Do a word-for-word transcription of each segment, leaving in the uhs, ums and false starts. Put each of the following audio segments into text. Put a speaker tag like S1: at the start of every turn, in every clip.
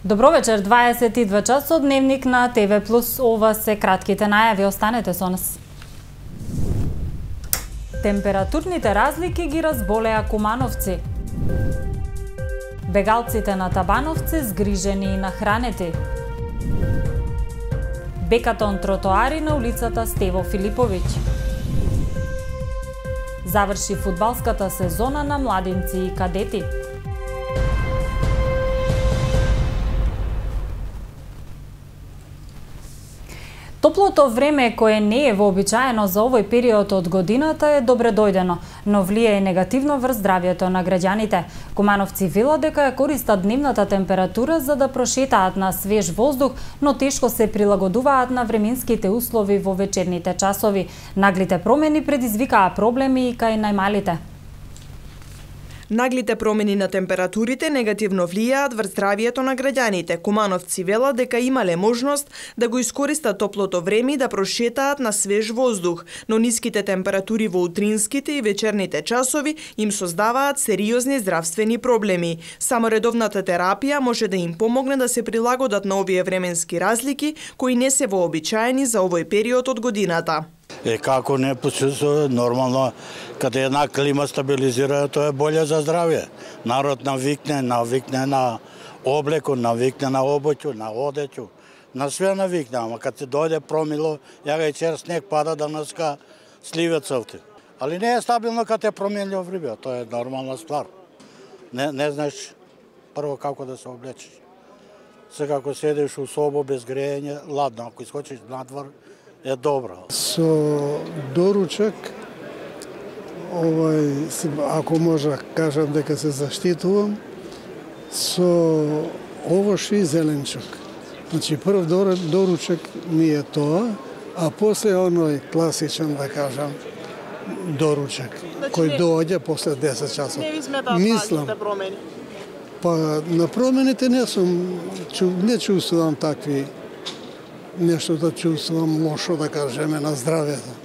S1: Добро вечер, дваесет и два часот, дневник на ТВ Плюс. Ова се кратките најави, останете со нас. Температурните разлики ги разболеа кумановци. Бегалците на Табановци згрижени и нахранети. Бекатон тротоари на улицата Стево Филиповиќ. Заврши фудбалската сезона на младинци и кадети. Топлото време, кое не е вообичаено за овој период од годината, е добре дојдено, но влијае негативно врз здравјето на граѓаните. Кумановци велат дека ја користат дневната температура за да прошетаат на свеж воздух, но тешко се прилагодуваат на временските услови во вечерните часови. Наглите промени предизвикаа проблеми и кај најмалите.
S2: Наглите промени на температурите негативно влијаат врз здравјето на граѓаните. Кумановци велат дека имале можност да го искористат топлото време и да прошетаат на свеж воздух, но ниските температури во утринските и вечерните часови им создаваат сериозни здравствени проблеми. Само редовната терапија може да им помогне да се прилагодат на овие временски разлики кои не се вообичаени за овој период од годината.
S3: Е, како не посусува, нормално, каде една клима стабилизира, тоа е боле за здравје. Народ навикне, навикне на облеку, навикне на обуќу, на одеќу, на све навикне, ама кад се дојде промило, ја га и чер снег пада данаска сливе цврти. Али не е стабилно кад е променлjivo време, тоа е нормална ствар. Не, не знаеш прво како да се облечеш. Сега ако седиш у собо без грејење, ладно, ако искочиш надвор, е добро.
S4: Со доручак, овај, ако може кажам дека се заштитувам, со овоши и зеленчук. Значи, прв доручак ми е тоа, а после оној класичен, да кажам, доручак, значи, кој доаѓа после десет часот.
S2: Не ви сметаат наглите промени?
S4: Па, на промените не сум, не чувствувам такви нешто да чувствувам лошо, да кажеме, на здравјето.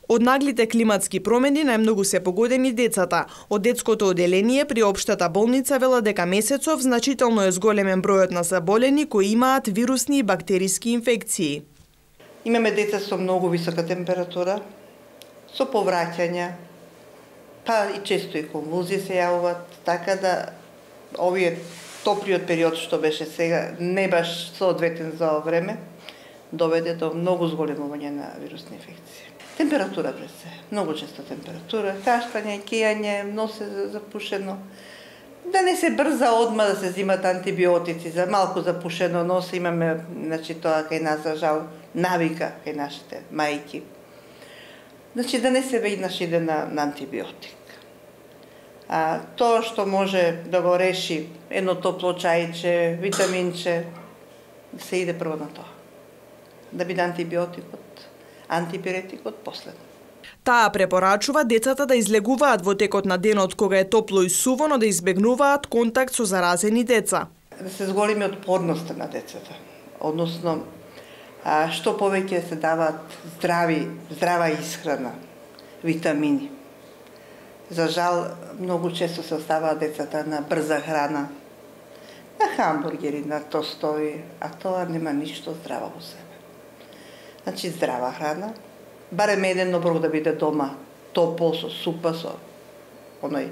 S2: Од наглите климатски промени најмногу се погодени децата. Од детското оделение при општата болница вела дека месецов значително е зголемен бројот на заболени кои имаат вирусни и бактериски инфекции.
S5: Имаме деца со многу висока температура, со повраќања, па и често и конвулзии се јавуваат, така да овие топлиот период што беше сега не баш соодветен за ова време, доведе до многу зголемување на вирусни инфекции. Температура пред се, многу често температура, кашлање, кејање, носе запушено. Да не се брза одма да се зимат антибиотици, за малку запушено носе имаме, значи тоа кај нас за жал навика кај нашите мајки. Значи да не се веднаш иде на, на антибиотик. А тоа што може да го реши едно топло чајче, витаминче, се иде прво на тоа. Да биде антибиотикот, антипиретикот последно.
S2: Таа препорачува децата да излегуваат во текот на денот кога е топло и суво, но да избегнуваат контакт со заразени деца.
S5: Да се зголеми отпорноста на децата, односно а, што повеќе се даваат здрави, здрава исхрана, витамини. За жал, многу често се оставаат децата на брза храна, на хамбургери, на тостови, а тоа нема ништо здраво во себе. Значи, здрава храна, барем еден оброк да биде дома, топол, со супа, со оној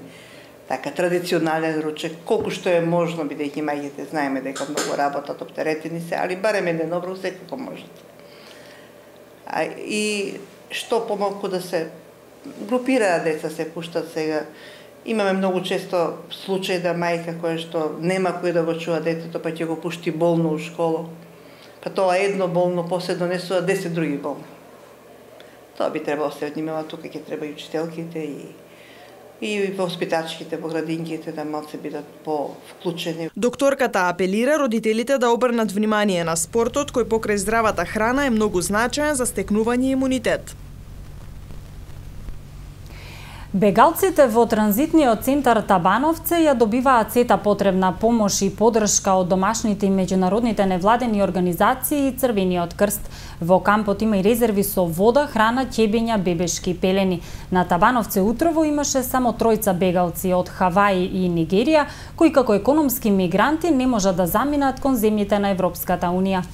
S5: така традиционален ручек, колку што е можно, бидејќи мајките знаеме дека многу работат, оптеретени се, али барем еден оброк секако можете. А, и што помалку да се групираат деца, се пуштат сега. Имаме многу често случај да мајка која што нема кој да го чува детето, па ќе го пушти болно у школа. Па тоа едно болно, после донесува десет други болни. Тоа би требало се внимава, тука ќе треба и учителките и и воспитачките во градинките да малце бидат по-вклучени.
S2: Докторката апелира родителите да обрнат внимание на спортот кој покрај здравата храна е многу значаен за стекнување имунитет.
S1: Бегалците во транзитниот центар Табановце ја добиваат сета потребна помош и поддршка од домашните и меѓународните невладени организации и Црвениот крст. Во кампот има и резерви со вода, храна, ќебења, бебешки пелени. На Табановце утрово имаше само тројца бегалци од Хаваи и Нигерија, кои како економски мигранти не можат да заминат кон земјите на Европската унија.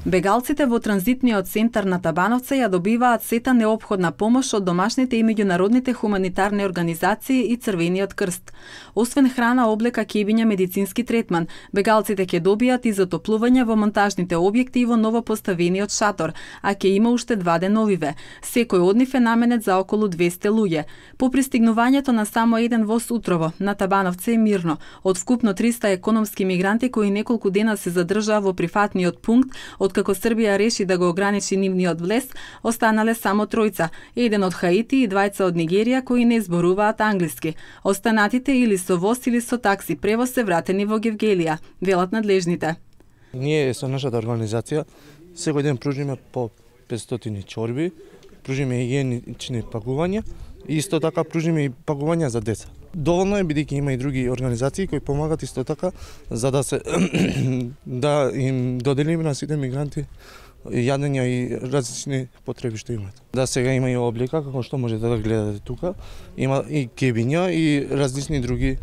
S6: Бегалците во транзитниот центар на Табановце ја добиваат сета неопходна помош од домашните и меѓународните хуманитарни организации и Црвениот крст. Освен храна, облека, ќебиња, медицински третман, бегалците ќе добијат и затоплување во монтажните објекти и во новопоставениот шатор, а ќе има уште два деновиве. Секој од нив е наменет за околу двесте луѓе. По пристигнувањето на само еден воз утрово, на Табановце е мирно. Од вкупно триста економски мигранти кои неколку дена се задржаа во прифатниот пункт, од како Србија реши да го ограничи нивниот влез, останале само тројца, еден од Хаити и двајца од Нигерија кои не зборуваат англиски. Останатите или со воз или со такси превоз се вратени во Гевгелија, велат надлежните.
S7: Ние со нашата организација секој ден пружиме по петстотини чорби, пружиме хигиенични пакувања и исто така пружиме и пакувања за деца. Доволно е бидејќи има и други организации кои помагат исто така за да се да им доделиме на сите мигранти јадења и различни потреби што имаат. Да, сега има и облика како што можете да гледате тука, има и кебиња и различни други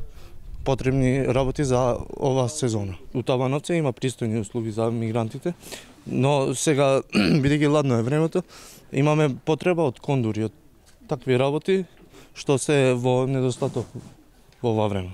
S7: потребни работи за ова сезона. У Табановце има пристојни услуги за мигрантите, но сега бидејќи ладно е времето, имаме потреба од кондури, од такви работи што се во недостаток во ова време.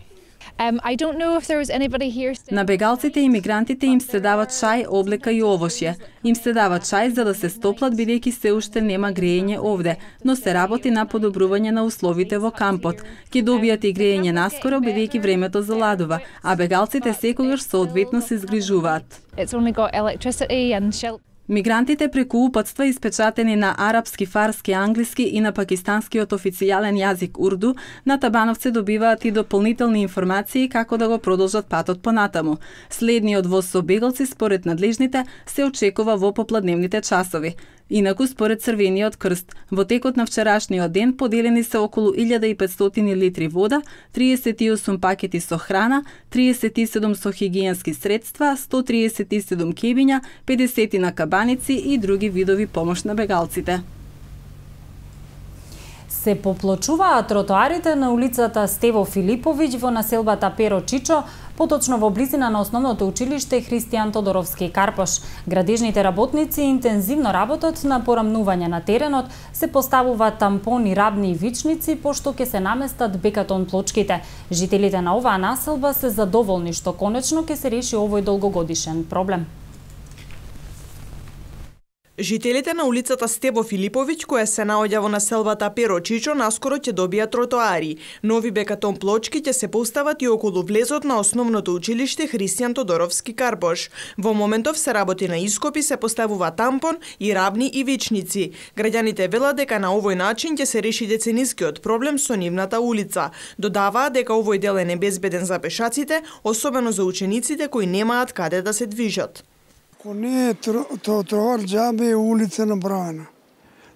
S8: Um, I don't know if there was anybody here still...
S6: На бегалците и мигрантите им се дават чај, облека и овошје. Им се дават чај за да се стоплат бидејќи се уште нема грејење овде, но се работи на подобрување на условите во кампот. Ќе добијат и грејење наскоро бидејќи времето заладува, а бегалците секогаш соодветно се згрижуваат.
S8: It's only got electricity and shelter.
S6: Мигрантите преку упатства испечатени на арапски, фарски, англиски и на пакистанскиот официјален јазик урду, на Табановце добиваат и дополнителни информации како да го продолжат патот понатаму. Следниот воз со бегалци според надлежните се очекува во попладневните часови. Инаку, според Црвениот крст, во текот на вчерашниот ден поделени се околу илјада и петстотини литри вода, триесет и осум пакети со храна, триесет и седум со хигиенски средства, сто триесет и седум кебиња, педесет на кабаници и други видови помош на бегалците.
S1: Се поплочуваат тротоарите на улицата Стево Филиповиќ во населбата Перо Чичо, поточно во близина на основното училиште Христијан Тодоровски Карпош. Градежните работници интензивно работат на порамнување на теренот, се поставуваат тампони, рабни и вичници, пошто ќе се наместат бекатон плочките. Жителите на оваа населба се задоволни што конечно ќе се реши овој долгогодишен проблем.
S2: Жителите на улицата Стебо Филиповиќ, која се наоѓа во населбата Перо Чичо, наскоро ќе добијат тротоари. Нови бекатон плочки ќе се постават и околу влезот на основното училиште Христијан Тодоровски Карпош. Во моментов се работи на ископи, се поставува тампон и рабни и вичници. Граѓаните велат дека на овој начин ќе се реши деценискиот проблем со нивната улица. Додаваат дека овој дел е небезбеден за пешаците, особено за учениците кои немаат каде да се движат.
S4: Ако не е тротоар, џабе е улица направена.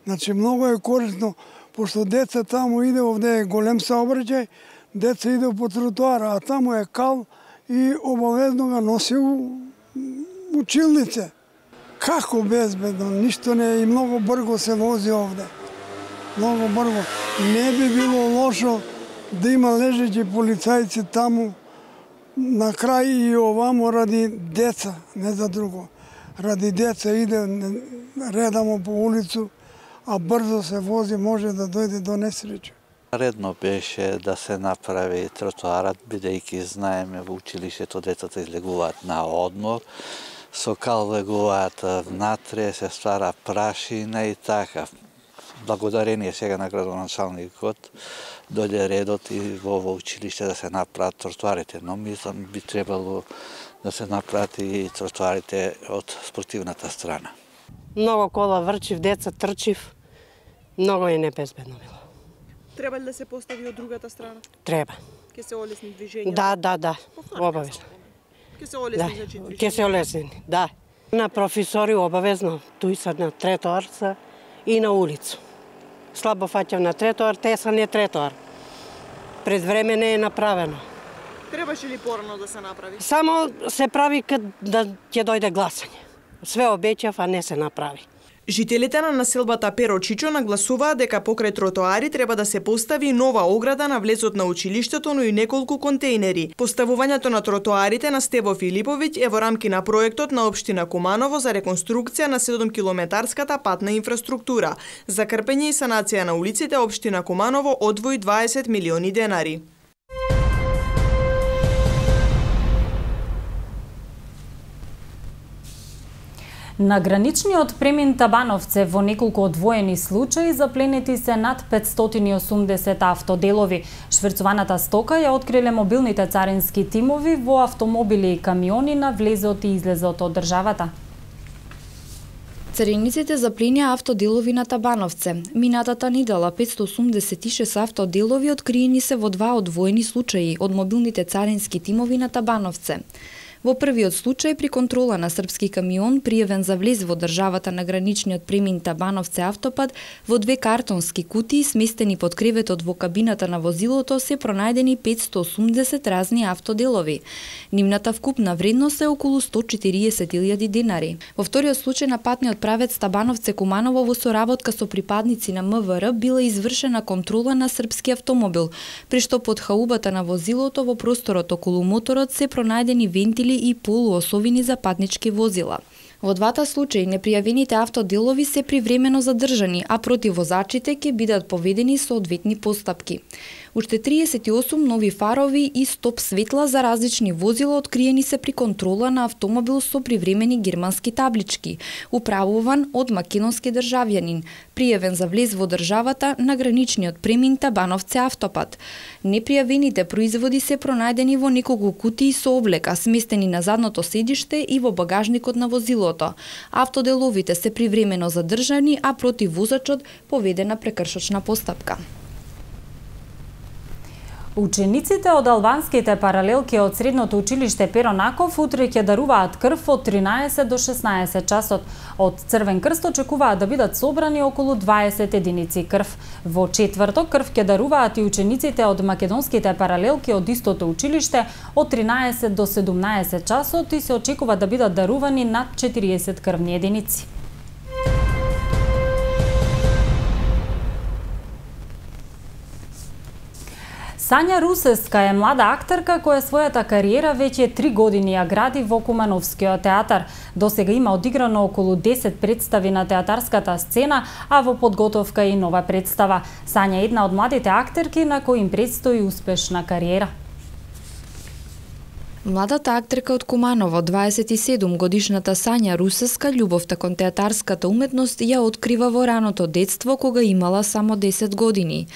S4: Значи, многу е корисно, пошто деца таму иде, овде е голем сообраќај, деца иде по тротоара, а таму е кал и обавезно го носи у училнице. Како безбедно, ништо не е и многу брго се вози овде. Многу брго. Не би било лошо да има лежеќи полицајци таму, на крај и овамо ради деца, не за друго. Ради деца иде редамо по улицу, а брзо се вози, може да дојде до несреќа.
S9: Редно беше да се направи тротоарат, бидејќи знаеме во училиштето децата излегуваат на одмор, со кал легуваат внатре, се ствара прашина и така. Благодарение сега на градоначалникот дојде редот и во ово училиште да се направат тротоарите, но мислам би требало да се направат и тротоарите од спортивната страна.
S10: Многу кола врчив, деца трчив, многу е небезбедно било.
S2: Треба ли да се постави од другата страна?
S10: Треба.
S2: Ке се олесни движењето?
S10: Да, да, да, обавезно.
S2: Ке се олесни, да. Значи движењето?
S10: Ке се олесни, да. На професори обавезно, туј са на тротоар и на улицу. слабо фаќав на тротоар, теса не тротоар. Пред време не е направено.
S2: Требаше ли порано да се направи?
S10: Само се прави кад да ќе дојде гласање. Све обеќав, а не се направи.
S2: Жителите на населбата Перо Чичо нагласуваат дека покрај тротоари треба да се постави нова ограда на влезот на училиштето, но и неколку контејнери. Поставувањето на тротоарите на Стево Филиповиќ е во рамки на проектот на општина Куманово за реконструкција на седумкилометарската патна инфраструктура. За крпење и санација на улиците општина Куманово одвои дваесет милиони денари.
S1: На граничниот премин Табановце во неколку одвоени случаи запленети се над петстотини и осумдесет автоделови. Шверцуваната стока ја откриле мобилните царински тимови во автомобили и камиони на влезот и излезот од државата.
S11: Цариниците запленија автоделови на Табановце. Минатата недела петстотини и осумдесет и шест автоделови откриени се во два одвоени случаи од мобилните царински тимови на Табановце. Во првиот случај при контрола на српски камион пријавен за влез во државата на граничниот премин Табановце автопат, во две картонски кутии сместени под креветот во кабината на возилото се пронајдени петстотини и осумдесет разни автоделови. Нивната вкупна вредност е околу сто и четириесет илјади денари. Во вториот случај на патниот правец Табановце Куманово во соработка со припадници на М В Р била извршена контрола на српски автомобил, при што под хаубата на возилото во просторот околу моторот се пронајдени вентили и полуосовини за патнички возила. Во двата случаи непријавените автоделови се привремено задржани, а против возачите ќе бидат поведени соодветни постапки. Уште триесет и осум нови фарови и стоп светла за различни возила откриени се при контрола на автомобил со привремени германски таблички, управуван од македонски државјанин, пријавен за влез во државата на граничниот премин Табановце автопат. Непријавените производи се пронајдени во неколку кутии со облека, сместени на задното седиште и во багажникот на возилото. Автоделовите се привремено задржани, а против возачот поведена прекршочна постапка.
S1: Учениците од албанските паралелки од средното училиште Перо Наков утре ќе даруваат крв од тринаесет до шеснаесет часот. Од Црвен крст очекуваат да бидат собрани околу дваесет единици крв. Во четврток крв ќе даруваат и учениците од македонските паралелки од истото училиште од тринаесет до седумнаесет часот и се очекува да бидат дарувани над четириесет крвни единици. Сања Русеска е млада актерка која својата кариера веќе три години ја гради во Кумановскиот театар. Досега има одиграно околу десет представи на театарската сцена, а во подготовка и нова представа. Сања е една од младите актерки на кои им предстои успешна кариера.
S11: Младата актерка од Куманово, дваесет и седум годишната Сања Русеска, љубовта кон театарската уметност ја открива во раното детство кога имала само десет години.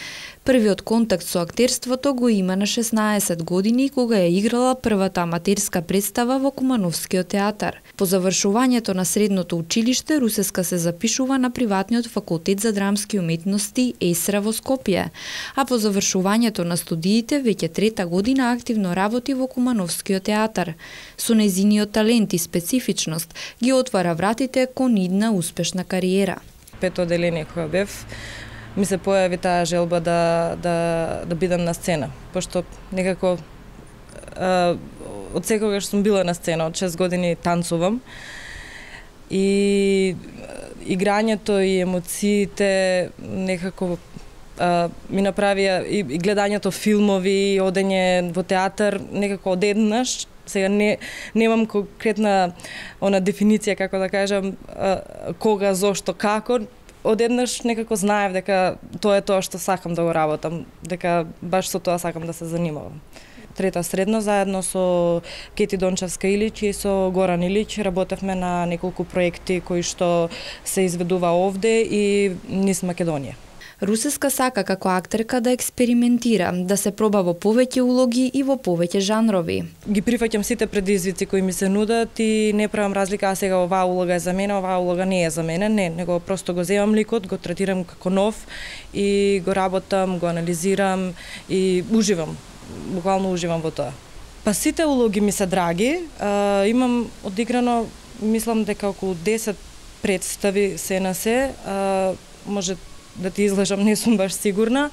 S11: Првиот контакт со актерството го има на шеснаесет години кога ја играла првата аматерска представа во Кумановскиот театар. По завршувањето на средното училиште Русеска се запишува на приватниот факултет за драмски уметности ЕСРА во Скопје, а по завршувањето на студиите веќе трета година активно работи во Кумановскиот театар. Со нејзиниот талент и специфичност ги отвара вратите кон идна успешна кариера.
S12: Пето оделение која бев, ми се појави таа желба да, да, да бидам на сцена, пошто некако а, од секогаш сум била на сцена, од шест години танцувам и играњето и емоциите некако а, ми направија и, и гледањето филмови, и одење во театар некако одеднаш. Сега не немам конкретна она дефиниција како да кажам а, кога, зошто, како. Одеднаш некако знаев дека тоа е тоа што сакам да го работам, дека баш со тоа сакам да се занимавам. Трета средно заедно со Кети Дончевска Илич и со Горан Илич работевме на неколку проекти кои што се изведува овде и низ Македонија.
S11: Русеска сака како актерка да експериментира, да се проба во повеќе улоги и во повеќе жанрови.
S12: Ги прифаќам сите предизвици кои ми се нудат и не правам разлика, а сега оваа улога е за мене, оваа улога не е за мене, не, него просто го земам ликот, го третирам како нов и го работам, го анализирам и уживам, буквално уживам во тоа. Па сите улоги ми се драги, а, имам одиграно, мислам дека околу десет представи се на се, а, може да ти излежам, не сум баш сигурна.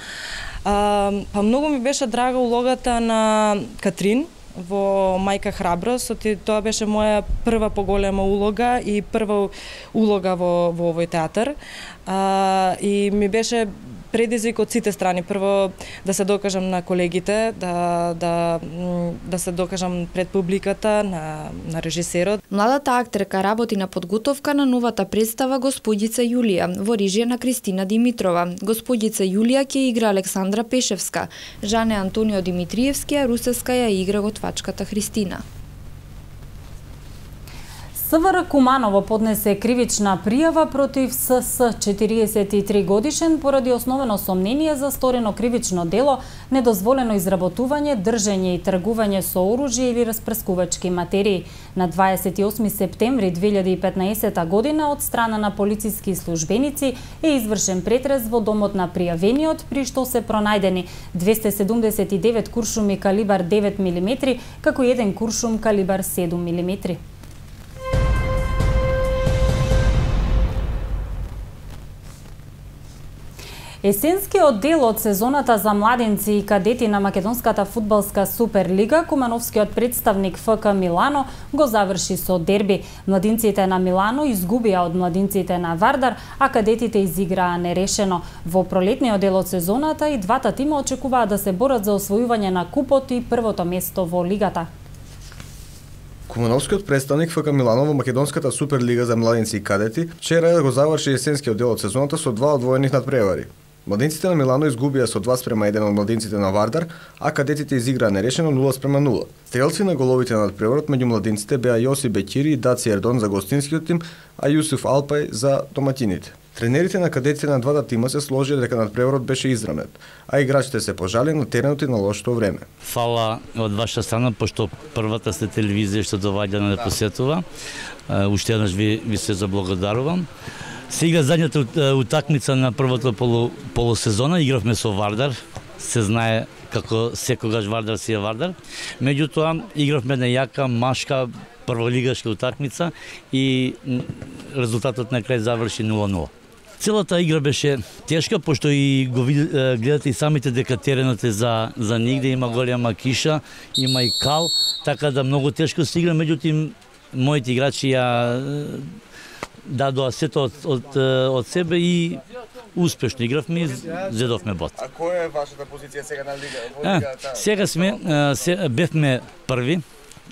S12: А, па многу ми беше драга улогата на Катрин во Мајка храброст, тоа беше моја прва поголема улога и прва улога во, во овој театар. А, и ми беше предизвик од сите страни. Прво да се докажам на колегите, да, да, да се докажам пред публиката, на, на режисерот.
S11: Младата актерка работи на подготовка на новата представа Господица Јулија во режија на Кристина Димитрова. Господица Јулија ќе игра Александра Пешевска, Жане Антонио Димитриевски, а Русевска ја игра готвачката Христина.
S1: СВР Куманово поднесе кривична пријава против СС четириесет и три годишен поради основено сомнение за сторено кривично дело, недозволено изработување, држење и тргување со оружје или распрскувачки материи. На дваесет и осми септември две илјади и петнаесета година од страна на полициски службеници е извршен претрес во домот на пријавениот, при што се пронајдени двесте седумдесет и девет куршуми калибар девет милиметри, како и еден куршум калибар седум милиметри. Есенскиот дел од сезоната за младенци и кадети на македонската фудбалска Суперлига, кумановскиот представник ФК Милано го заврши со дерби. Младинците на Милано изгубија од младинците на Вардар, а кадетите изиграа нерешено. Во пролетниот дел од сезоната и двата тима очекуваат да се борат за освојување на купот и првото место во лигата.
S13: Кумановскиот представник ФК Милано во македонската Суперлига за младинци и кадети вчера го заврши есенскиот дел од сезоната со два одвоени надпревари. Младинците на Милано изгубија со два спрема еден од младинците на Вардар, а кадетите изиграа нерешено нула спрема нула. Стрелци на головите на надпреварот меѓу младинците беа Јоси Бекири и Даци Ердон за гостинскиот тим, а Јусуф Алпај за доматините. Тренерите на кадетите на двата тима се сложија дека надпреварот беше изравнет, а играчите се пожали на теренот и на лошото време.
S14: Фала од ваша страна, пошто првата сте телевизија што доваѓа на да посетува. Уште еднаш ви, ви се заблагодарувам. Се игра задњата утакмица на првото полу, полусезона, игравме со Вардар, се знае како секогаш Вардар си е Вардар. Меѓутоа, игравме на јака, машка, прволигашка утакмица и резултатот на крај заврши нула нула. Целата игра беше тешка, пошто и го гледате и самите дека теренот е за, за нигде, има голема киша, има и кал, така да многу тешко се игра, меѓутоа моите играчи ја дадоа сето од, од, од себе и успешно игравме и зедовме бот.
S13: А која е вашата позиција сега на лига? Во лигата?
S14: Сега сме, се, бевме први,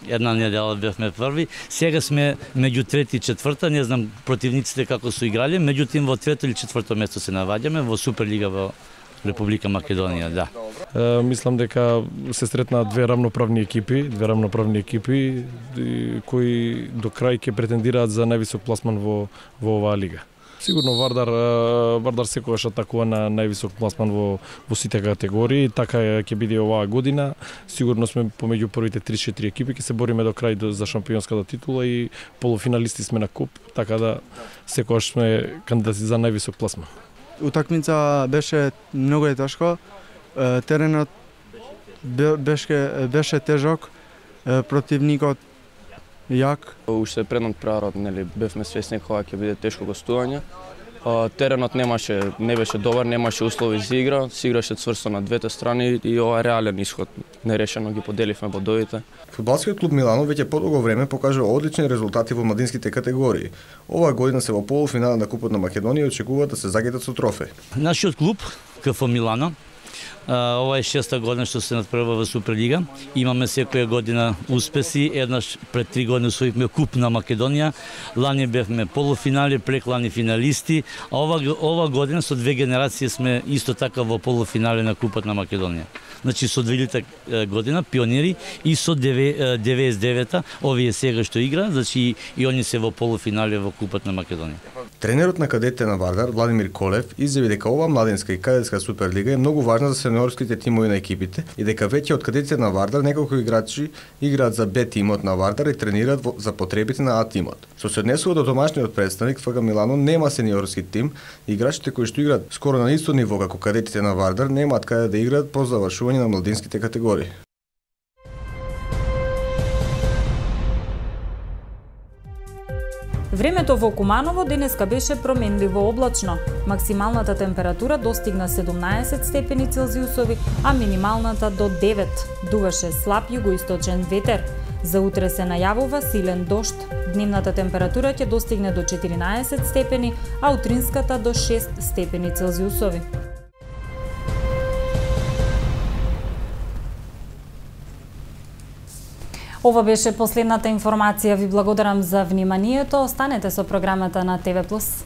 S14: една недела бевме први, сега сме меѓу трети и четврта, не знам противниците како су играли, меѓутоа во трето или четврто место се наваѓаме во Суперлига во Република Македонија, да.
S15: Е, мислам дека се сретнаа две рамноправни екипи, две рамноправни екипи кои до крај ќе претендираат за највисок пласман во во оваа лига. Сигурно Вардар Вардар секогаш атакува на највисок пласман во во сите категории, така ќе биде оваа година. Сигурно сме помеѓу првите три-четири екипи, ќе се бориме до крај за шампионската титула и полуфиналисти сме на куп, така да секогаш сме кандидати за највисок пласман.
S16: Утакмица беше многу е тешко. Теренот беше беше тежок, противникот јак.
S17: Уште пред надпреварот, нели, бевме свесни кога ќе биде тешко гостување. Теренот немаше, не беше добар, немаше услови за игра, се играше цврсто на двете страни и ова реален исход. Нерешено ги поделивме бодовите.
S13: Фудбалскиот клуб Милано веќе подолго време покажува одлични резултати во младинските категории. Оваа година се во полуфинал на Купот на Македонија и очекуваат да се загетат со трофеј.
S14: Нашиот клуб КФ Милано, ова е шеста година што се надпреварува во Суперлига. Имаме секоја година успеси. Еднаш пред три години освоивме Куп на Македонија. Лани бевме полуфинали, преклани финалисти. А ова, ова година со две генерации сме исто така во полуфинали на Купот на Македонија. Значи со две илјадата година пионери и со деветдесет и девета овие сега што игра, значи и они се во полуфинали во Купот на Македонија.
S13: Тренерот на кадетите на Вардар, Владимир Колев, изјави дека ова младинска и кадетска Суперлига е многу важна за сениорските тимови на екипите и дека веќе од кадетите на Вардар неколку играчи играат за Б тимот на Вардар и тренираат за потребите на А тимот. Што се однесува до домашниот представник, ФК Милано нема сениорски тим, играчите кои што играат скоро на исто ниво како кадетите на Вардар немаат каде да играат по завршување на младинските категории.
S1: Времето во Куманово денеска беше променливо облачно. Максималната температура достигна седумнаесет степени Целзиусови, а минималната до девет. Дуваше слаб југоисточен ветер. За утре се најавува силен дожд. Дневната температура ќе достигне до четиринаесет степени, а утринската до шест степени Целзиусови. Ова беше последната информација. Ви благодарам за вниманието. Останете со програмата на Т В Плюс.